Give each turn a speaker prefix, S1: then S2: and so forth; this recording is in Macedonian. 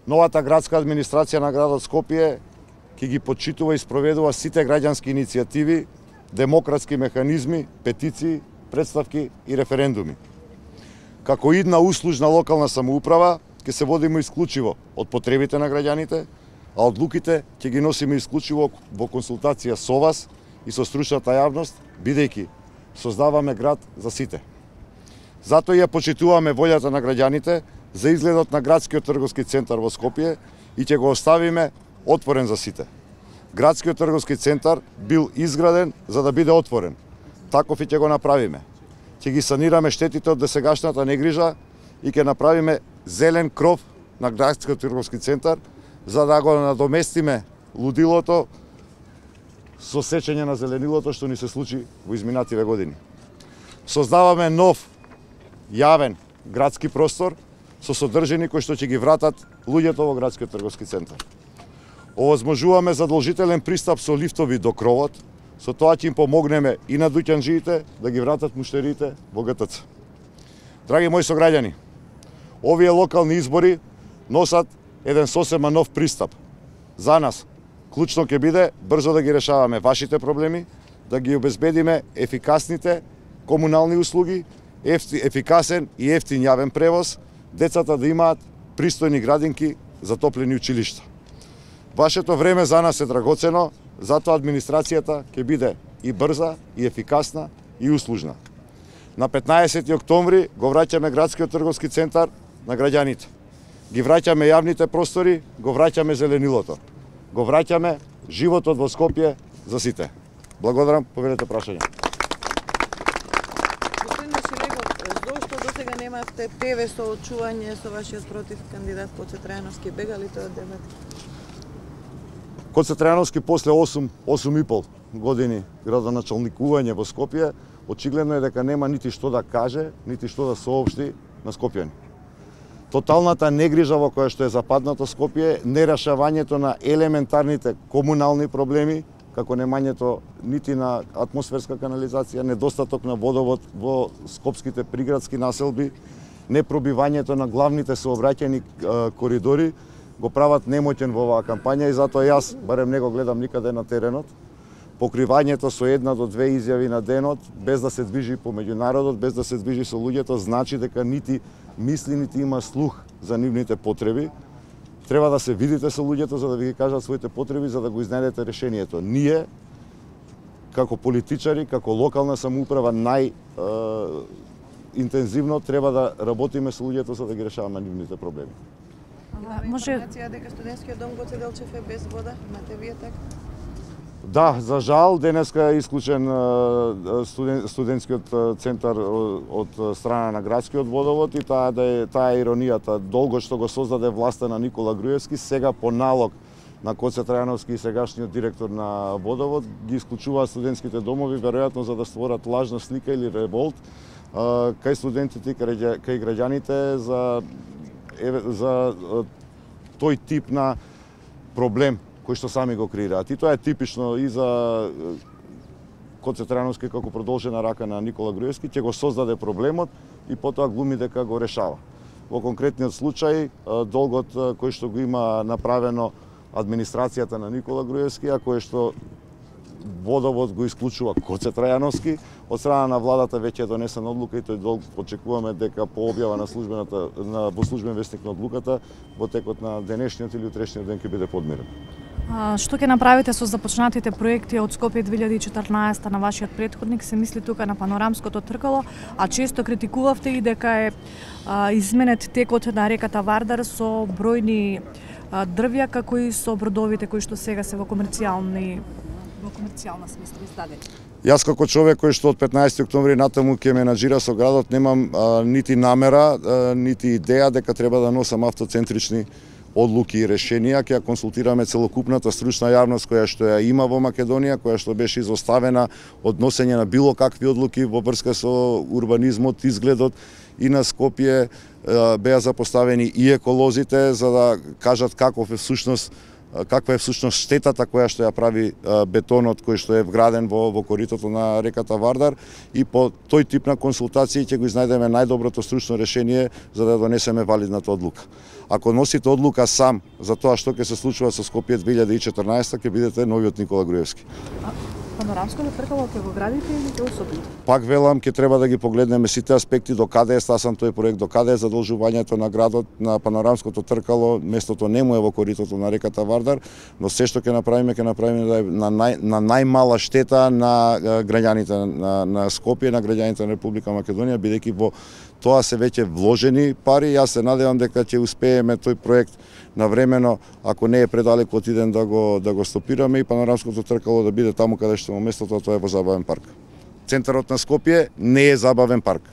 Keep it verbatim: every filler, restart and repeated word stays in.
S1: Новата градска администрација на градот Скопје ќе ги почитува и спроведува сите граѓански иницијативи, демократски механизми, петиции, представки и референдуми. Како идна услужна локална самоуправа ќе се водиме исклучиво од потребите на граѓаните, а одлуките ќе ги носиме исклучиво во консултација со вас и со стручната јавност, бидејќи создаваме град за сите. Затоа ја почитуваме волјата на граѓаните за изгледот на градскиот трговски центар во Скопје и ќе го оставиме отворен за сите. Градскиот трговски центар бил изграден за да биде отворен. Таков и ќе го направиме. Ќе ги санираме штетите од досегашната негрижа и ќе направиме зелен кров на градскиот трговски центар за да го надоместиме лудилото со сечење на зеленилото што ни се случи во изминативе години. Создаваме нов јавен градски простор со содржини кои што ќе ги вратат луѓето во градскиот трговски центар. Овозможуваме задолжителен пристап со лифтови до кровот, со тоа ќе им помогнеме и на дуќанџиите да ги вратат муштарите во ГТЦ. Драги мои сограѓани, овие локални избори носат еден сосема нов пристап. За нас клучно ќе биде брзо да ги решаваме вашите проблеми, да ги обезбедиме ефикасните комунални услуги, ефикасен и ефтин јавен превоз, децата да имаат пристојни градинки, затоплени училишта. Вашето време за нас е драгоцено, затоа администрацијата ќе биде и брза, и ефикасна, и услужна. На петнаесети октомври го враќаме градскиот трговски центар на граѓаните. Ги враќаме јавните простори, го враќаме зеленилото. Го враќаме животот во Скопје за сите. Благодарам, поведете прашање.
S2: Господин Шилегов, зошто досега немавте ТВ соочување со вашиот против кандидат Коце Трајановски? Бега ли тој од дебат?
S1: Коце Трајановски после осум, осум и пол години градоначалникување во Скопје, очигледно е дека нема нити што да каже, нити што да соопшти на скопјани. Тоталната негрижа во која што е западнато Скопје, нерешавањето на елементарните комунални проблеми, како немањето нити на атмосферска канализација, недостаток на водовод во скопските приградски населби, непробивањето на главните сообраќајни коридори, го прават немоќен во оваа кампања и затоа јас барем не го гледам никаде на теренот. Покривањето со една до две изјави на денот, без да се движи помеѓу народот, без да се движи со луѓето, значи дека нити мисли, нити има слух за нивните потреби. Треба да се видите со луѓето за да ви ги кажат своите потреби, за да го изнајдете решението. Ние, како политичари, како локална самоуправа, најинтензивно треба да работиме со луѓето за да ги решаваме нивните проблеми.
S2: Може информација дека студентскиот дом Гоце Делчев е без вода? Имате вие така?
S1: Да, за жал, денеска е исклучен студен, студентскиот центар од страна на градскиот водовод и таа да е таа е иронијата. Долго што го создаде власта на Никола Груевски, сега по налог на Коце Трајановски и сегашниот директор на водовод ги исклучуваат студентските домови, веројатно за да створат лажна слика или револт кај студентите и кај граѓаните за за тој тип на проблем кој што сами го креираат. И тоа е типично и за Коце Трајановски како продолжена рака на Никола Груевски, ќе го создаде проблемот и потоа глуми дека го решава. Во конкретниот случај, долгот кој што го има направено администрацијата на Никола Груевски, а кој што водовод го исклучува Коце Трајановски, од страна на владата веќе е донесена одлука и тој долг очекуваме дека по објава на службената на во службен весник на одлуката во текот на денешниот или утрешниот ден ќе биде подмирен.
S3: А, што ќе направите со започнатите проекти од Скопје две илјади и четрнаесетта на вашиот претходник? Се мисли тука на панорамското тркало, а често критикувавте и дека е а, изменет текот на реката Вардар со бројни а, дрвја, како и со бродовите кои што сега се во комерцијални во комерцијална смисла издадени.
S1: Јас како човек кој што од петнаесети октомври натаму ќе менаџира со градот немам а, нити намера, а, нити идеја дека треба да носам автоцентрични одлуки и решенија. Ќе ја консултираме целокупната стручна јавност која што ја има во Македонија, која што беше изоставена од носење на било какви одлуки во врска со урбанизмот, изгледот и на Скопје. Беа запоставени и еколозите за да кажат каков е всушност каква е всушност штетата која што ја прави бетонот кој што е вграден во, во коритото на реката Вардар, и по тој тип на консултации ќе го изнајдеме најдоброто стручно решение за да донесеме валидната одлука. Ако носите одлука сам за тоа што ќе се случува со Скопје две илјади и четрнаесета, ќе бидете новиот Никола Груевски.
S3: Панорамското тркало ќе го градите или ќе усопите?
S1: Пак велам, ќе треба да ги погледнеме сите аспекти, до каде е стасан тој проект, до каде е задолжувањето на градот на панорамското тркало. Местото не му е во коритото на реката Вардар, но се што ќе направиме, ќе направиме да е на, нај, на најмала штета на граѓаните на, на Скопје, на граѓаните на Република Македонија, бидејќи во тоа се веќе вложени пари. Јас се надевам дека ќе успееме тој проект навремено, ако не е предалеку од иден, да го да го стопираме и панорамското тркало да биде таму каде што му местото, тоа е во забавен парк. Центарот на Скопје не е забавен парк.